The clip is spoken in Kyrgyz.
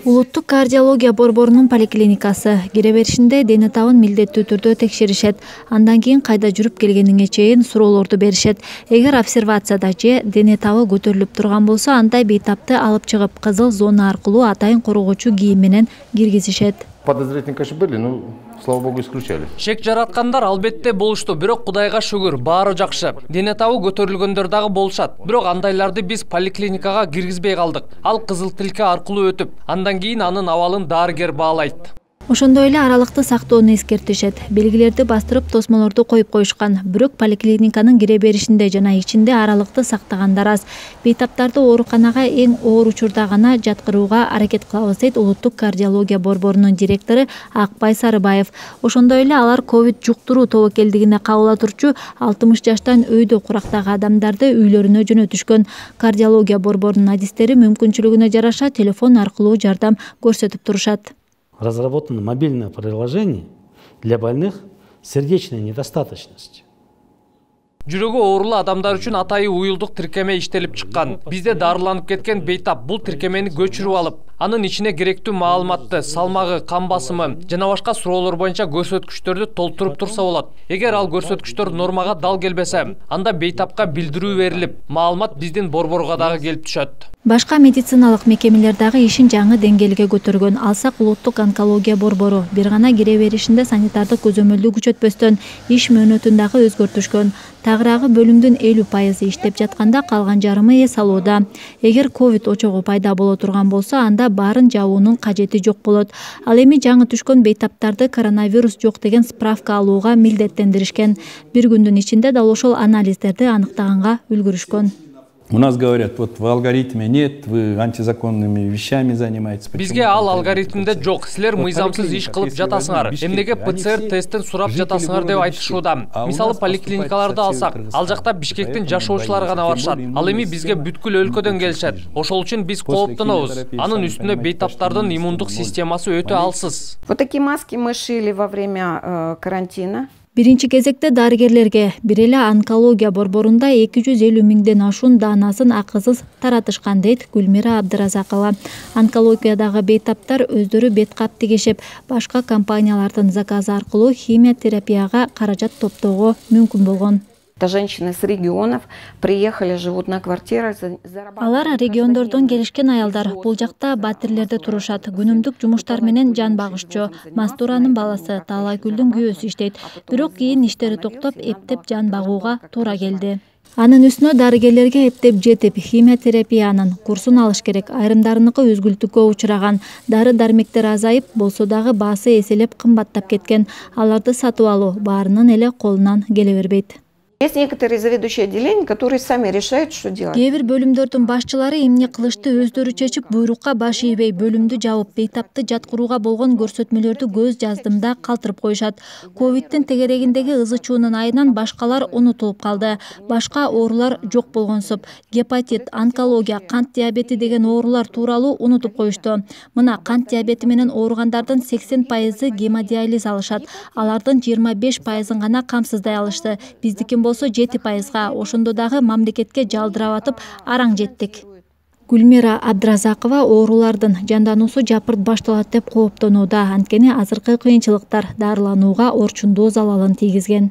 Улуттук кардиология борборунун поликлиникасы кире беришинде дене табын милдеттүү түрдө текшеришет. Андан кийин кайда жүрүп келгениңе чейин суроолорду беришет. Эгер обсервацияда же дене табы көтөрүлүп турган болсо, андай бейтапты алып чыгып, кызыл зона аркылуу атайын коргоочу кийим менен киргизишет. Подозрительные, конечно, были, но, слава богу, исключали. Шек жараткандар албетте болушту, бирок Кудайга шүгүр, баары жакшы. Дене табы көтөрүлгөндөр дагы болушат. Бирок андайларды биз поликлиникага киргизбей калдык. Ал кызыл тилке аркылуу өтүп, андан кийин анын абалын дарыгер баалайт. Ошондой эле аралыкты сактоону эскертишет. Белгилерди бастырып, тосмолорду коюп коюшкан. Бирок поликлиниканын кире беришинде жана ичинде аралыкты сактагандар аз. Бейтаптарды ооруканага эң оор учурда гана жаткырууга аракет кылабыз, дейт Улуттук кардиология борборунун директору Акбай Сарыбаев. Ошондой эле алар ковид жуктуруу тобокелдигине кабыла турчу 60 жаштан өйдө курактагы адамдарды үйлөрүнө жөнөтүшкөн. Кардиология борборунун адистери мүмкүнчүлүгүнө жараша телефон аркылуу жардам көрсөтүп турушат. Разработано мобильное приложение для больных с сердечной недостаточностью. Жүрөгү оорулуу адамдар үчүн атайы уюлдук тиркеме иштелип чыккан. Бизде дарыланып кеткен бейтап бул тиркемени көчүрүп алып, анын ичине керектүү маалыматты, салмагы, кан басымы жана башка суроолор боюнча көрсөткүчтөрдү толтуруп турса болот. Эгер ал көрсөткүчтөр нормага дал келбесе, анда бейтапка билдирүү берилип, маалымат биздин борборго дагы келип түшөт. Башка медициналык мекемелер дагы ишин жаңы деңгээлге көтөргөн. Алсак Улуттук онкология борбору бир гана кире беришинде санитардык көзөмөлдү күчөтпөстөн иш мөөнөтүн дагы өзгөртүшкөн. Тагыраагы бөлүмдүн 50% иштеп жатканда, калган жарымы эс алууда. Эгер ковид очогу пайда боло турган болсо, анда баарын жабуунун кажети жок болот. Ал эми жаңы түшкөн бейтаптарды коронавирус жок деген справка алууга милдеттендиришкен. Бир күндүн ичинде дал ошол анализдерди аныктаганга үлгүрүшкөн. У нас говорят, вот в алгоритме нет, вы антизаконными вещами занимаетесь. Бизге ал алгоритмде жок, силер мыйзамсыз иш кылып жатасыңар. Эмнеге ПЦР тесттин сурап жатасыңар деп айтышууда. Мисалы поликлиникаларды алсак, ал жакта Бишкектин жашоочулары гана барышат. Ал эми бизге бүткүл өлкөдөн келишет. Ошол үчүн биз кооптонобуз. Анын үстүнө бейтаптардын иммундук системасы өтө алсыз. Вот такие маски мы шили во время карантина. Биринчи кезекте дарыгерлерге бир эле онкология борборунда 250 миңден ашуун даанасын акысыз таратышкан, дейт Гүлмира Абдыразакова. Онкологиядагы бейтаптар өздөрү бет кап тигишип, башка компаниялардын заказы аркылуу химия терапияга каражат топтоого мүмкүн болгон. Это женщины с регионов приехали, живут на квартирах. Алар региондордон келишкен аялдар. Бул жакта батирлерде турушат. Күнүмдүк жумуштар менен жан багышчу. Мастуранын баласы, Таалайгүлдүн күйөөсү иштейт. Бирок кийин иштери токтоп, эптеп жан багууга туура келди. Анын үстүнө дарыгерлерге эптеп жетип, химия терапиянын курсун алыш керек. Айрымдарыныкы үзгүлтүккө учураган. Дары-дармектер азайып, болсо дагы баасы эселеп кымбаттап кеткен. Аларды сатып алуу баарынын эле колунан келе бербейт. Есть некоторые заведующие отделения, которые сами решают, что делать. Кээ бир бөлүмдөрдүн башчылары эмне кылышты өздөрү чечип, буйрукка баш ийбей, бөлүмдү жабып, бейтапты жаткырууга болгон көрсөтмөлөрдү көз жаздымда калтырып коюшат. Ковидтин тегерегиндеги ызы чуунун айынан башкалар унутулуп калды. Башка оорулар жок болгонсуп, гепатит, онкология, кант диабети деген оорулар тууралуу унутуп коюшту. Мына кант диабети менен ооругандардын 80% гемодиализ алышат. Алардын 25% гана камсыздай алышты. Биздики болсо 7%. Ошондо дагы мамлекетке жалдырап атып араң жеттик. Гүлмира Абдыразакова оорулардын жандануусу жапырт башталат деп кооптонууда. Анткени азыркы кыйынчылыктар дарыланууга орчундуу залалын тийгизген.